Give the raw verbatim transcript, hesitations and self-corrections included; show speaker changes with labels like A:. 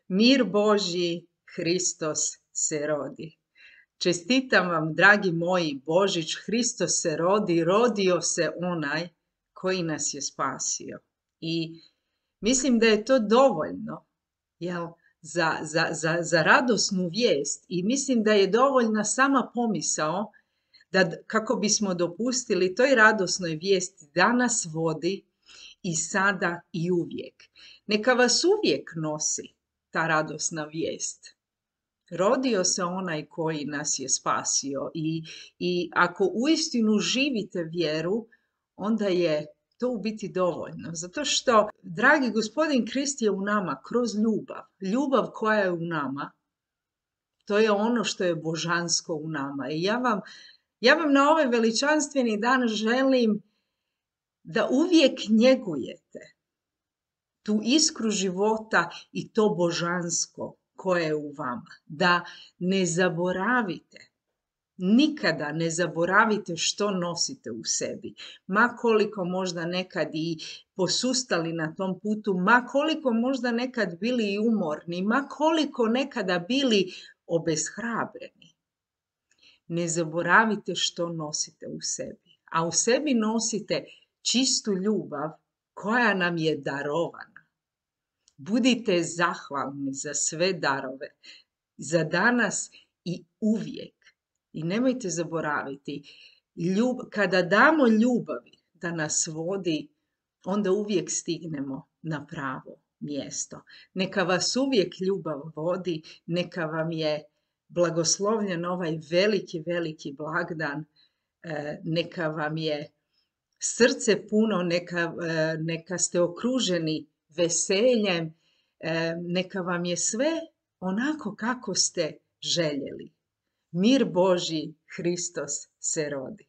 A: Mir Božji, Hristos se rodi. Čestitam vam, dragi moji, Božić, Hristos se rodi, rodio se onaj koji nas je spasio. I mislim da je to dovoljno, jel, za, za, za, za radosnu vijest, i mislim da je dovoljna sama pomisao da kako bismo dopustili toj radosnoj vijesti da nas vodi i sada i uvijek. Neka vas uvijek nosi ta radosna vijest. Rodio se onaj koji nas je spasio i, i ako uistinu živite vjeru, onda je to u biti dovoljno. Zato što, dragi Gospodin Krist je u nama kroz ljubav. Ljubav koja je u nama, to je ono što je božansko u nama. I ja vam, ja vam na ovaj veličanstveni dan želim da uvijek njegujete tu iskru života i to božansko koje je u vama. Da ne zaboravite, nikada ne zaboravite što nosite u sebi. Ma koliko možda nekad i posustali na tom putu, ma koliko možda nekad bili i umorni, ma koliko nekada bili obeshrabreni. Ne zaboravite što nosite u sebi. A u sebi nosite čistu ljubav koja nam je darovana. Budite zahvalni za sve darove, za danas i uvijek. I nemojte zaboraviti, ljub, kada damo ljubavi da nas vodi, onda uvijek stignemo na pravo mjesto. Neka vas uvijek ljubav vodi, neka vam je blagoslovljen ovaj veliki, veliki blagdan, neka vam je srce puno, neka, neka ste okruženi veseljem, neka vam je sve onako kako ste željeli. Mir Božji, Hristos se rodi.